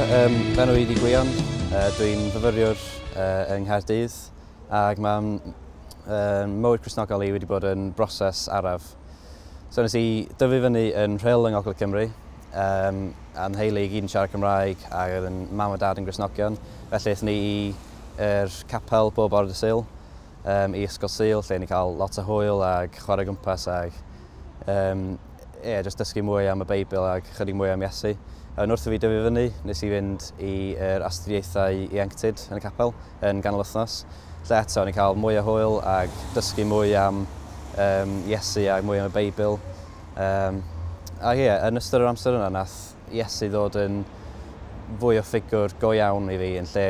Fy enw i 'di Gwion, dwi'n fyfyriwr yng Nghaerdydd ac mae mywyd Cristnogol i wedi bod yn broses araf. So nes i dyfu fyny yn Rhyl yng Ngogledd Cymru, a'n nheulu i gyd yn siarad Cymraeg ac oedd yn mam a dad yn Gristnogion. Felly aethon ni i'r capel bob bore dydd Sul, i ysgol Sul lle ni cael lot o hwyl ac chwarae gwmpas ac yeah, just dysgu mwy am y Beibl ac chydig mwy am Iesu. Yn wrth i fi dyfu fyny, nes i fynd i'r astudiaethau ieuenctid yn y capel yn ganol wythnos. Lle eto, o'n i'n cael mwy o hwyl ac dysgu mwy am Iesu ac mwy am y Beibl. A ie, yeah, yn ystod yr amser yna, nath Iesu ddod yn fwy o ffigwr go iawn i fi yn lle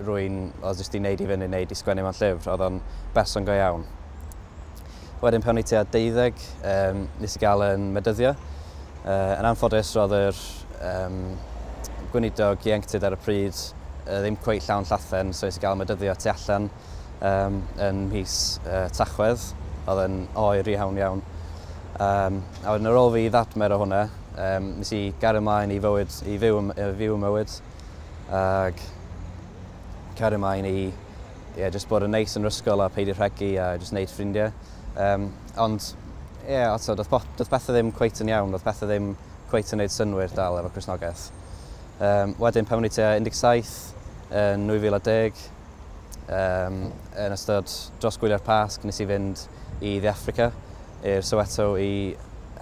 rwy'n oedd jyst i wneud i fyny neu di sgwennu mewn llyfr, oedd o'n berson go iawn. Wedyn pan o'n i tua 12, nes i gael yn medyddio. Yn anffodus, roedd yr gweinidog ieuenctid ar y pryd ddim cweit llawn llathen, so nes i gael medyddio tu allan yn mis Tachwedd, oedd yn oer iawn iawn. A wedyn ar ôl fi ddadmer o hwnna, nes i gario ymlaen i, fywyd, i fyw, i fyw mywyd, ac cario ymlaen i, yeah, just bod yn neis yn yr ysgol a peidio rhegi a just wneud ffrindiau. Ond, ie, yeah, eto, doedd pethau ddim cweit yn iawn, doedd pethau ddim cweit yn neud synnwyr dal efo Cristnogaeth. Wedyn, pan o'n i tua 17, yn 2010, yn ystod dros gwyliau'r Pasg, nes i fynd i Dde Affrica, i'r Soweto i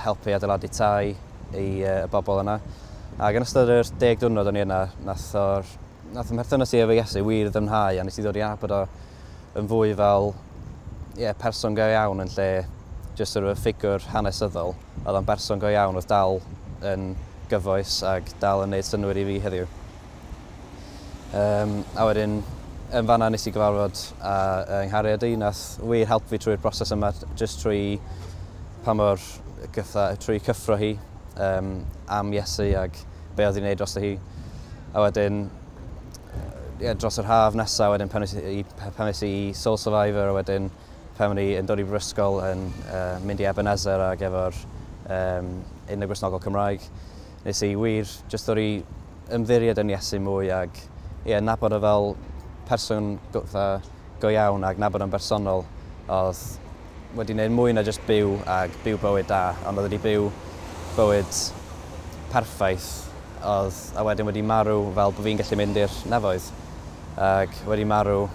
helpu adeiladu tai i y bobl yna. Ac yn ystod yr 10 diwrnod o'n i yna, nath 'y mherthynas i efo Iesu wir ddyfnhau, a nes i ddod i nabod o yn fwy fel, yeah, person go iawn yn lle just sort of y ffigwr hanesyddol. Oedd o'n berson go iawn oedd dal yn gyfoes ac dal yn neud synnwyr i fi heddiw. A wedyn, yn fanna nes i gyfarfod â yng nghariad i, nath wir helpu fi trwy'r broses yma, just trwy pa mor gytha, trwy cyffro hi am Iesu ac be oedd hi'n neud dros hi. A wedyn, yeah, dros yr haf nesaf, wedyn pan es i Soul Survivor, a wedyn pan o'n i yn dod i brifysgol yn mynd i Ebenezer ac efo'r Undeb Gristnogol Cymraeg, nes i wir just ddod i ymddiried yn Iesu mwy ac, ie, nabod o fel person go iawn ac nabod o'n bersonol oedd wedi gwneud mwy na just byw ac byw bywyd da, ond oedd wedi byw bywyd perffaith oedd, a wedyn wedi marw fel bod fi'n gallu mynd i'r nefoedd ac wedi marw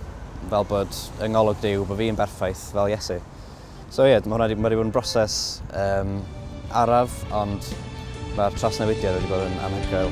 fel bod yng ngolwg Duw bod fi'n berffaith fel Iesu. So ie, yeah, mae hwnna wedi, wedi bod yn broses araf, ond mae'r trawsnewidiad wedi bod yn anhygoel.